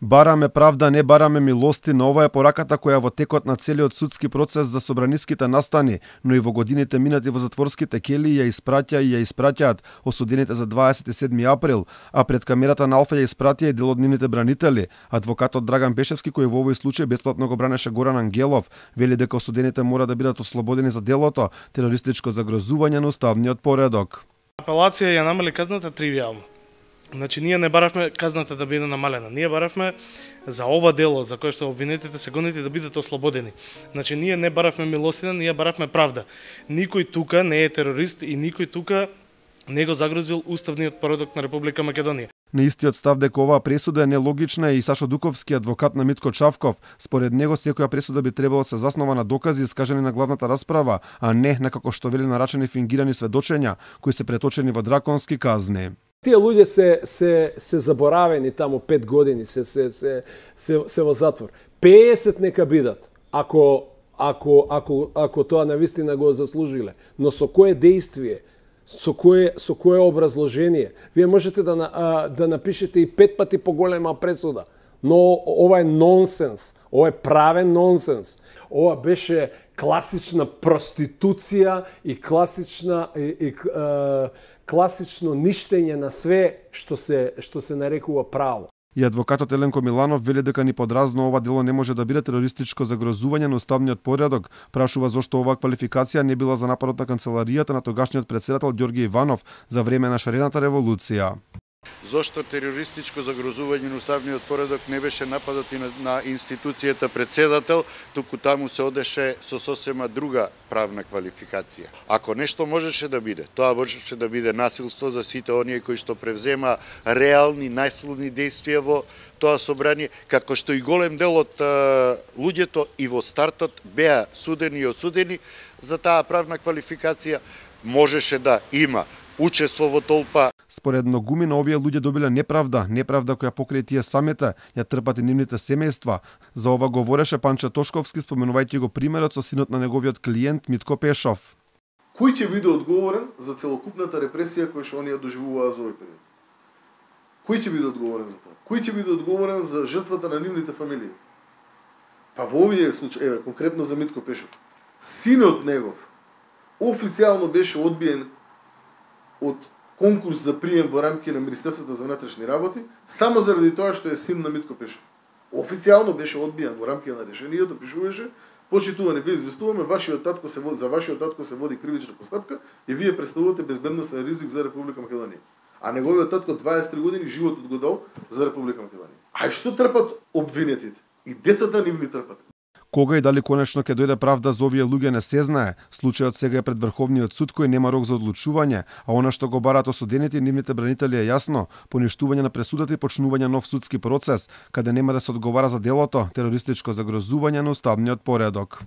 Бараме правда, не бараме милостина. Ова е пораката која во текот на целиот судски процес за собраниските настани, но и во годините минати во затворските кели ја испраќаат осудените за 27 април, а пред камерата на Алфа ја испратија и дел од нивните бранители. Адвокатот Драган Пешевски, кој во овој случај бесплатно го бранеше Горан Ангелов, вели дека осудените мора да бидат ослободени за делото терористичко загрозување на уставниот поредок. Апелација ја намали казната тривијално. Значи, ние не баравме казната да биде намалена. Ние баравме за ова дело, за кое што обвинетите се гонети, да бидат ослободени. Значи, ние не баравме милостина, ние баравме правда. Никој тука не е терорист и никој тука не го загрозил уставниот поредок на Република Македонија. На истиот став дека оваа пресуда е нелогична и Сашо Дуковски, адвокат на Митко Чавков, според него секоја пресуда би требало да се заснова на докази искажани на главната расправа, а не на како што вели нарачени фингирани сведочења кои се преточени во драконски казни. Тие луѓе се заборавени таму 5 години, се во затвор. 50 нека бидат, ако тоа навистина го заслужиле. Но со кое действие, со кое образложение? Вие можете да напишете и 5 пати поголема пресуда. Но ова е нонсенс, ова е правен нонсенс. Ова беше класична проституција и класично ништење на све што се нарекува право. И адвокатот Еленко Миланов вели дека ни подразно ова дело не може да биде терористичко загрозување на уставниот поредок, прашува зошто оваа квалификација не била за нападот на канцеларијата на тогашниот претседател Ѓорѓе Иванов за време на шарената револуција. Зошто терористичко загрозување на уставниот поредок не беше нападот и на институцијата претседател, туку таму се одеше со сосема друга правна квалификација. Ако нешто можеше да биде, тоа можеше да биде насилство за сите оние кои што превзема реални најсилни действија во тоа собрание, како што и голем дел од луѓето и во стартот беа судени и осудени за таа правна квалификација, можеше да има учество во толпа. Според многумина овие луѓе добиле неправда која покрај тие самите ја трпат и нивните семејства. За ова говореше Панче Тошковски, споменувајќи го примерот со синот на неговиот клиент Митко Пешов. Кој ќе биде одговорен за целокупната репресија која што оние доживуваа за овој период? Кој ќе биде одговорен за тоа? Кој ќе биде одговорен за жртвата на нивните фамилии? Па во овие случаи, конкретно за Митко Пешов, синот негов официјално беше одбиен од конкурс за прием во рамки на Министерството за внатрешни работи, само заради тоа што е син на Митко Пешов. Официјално беше одбиен во рамки на решението, пишуваше: почитувани, вие известуваме, за вашиот татко се води кривична постапка и вие представувате безбедносен ризик за Република Македонија. А неговиот татко 23 години животот го дал за Република Македонија. А што трпат обвинетите? И децата нивни трпат. Кога и дали конечно ќе дојде правда за овие луѓе не се знае. Случајот сега е пред Врховниот суд кој нема рок за одлучување, а она што го бараат осудените и нивните бранители е јасно: поништување на пресудата и почнување нов судски процес, каде нема да се одговара за делото терористичко загрозување на уставниот поредок.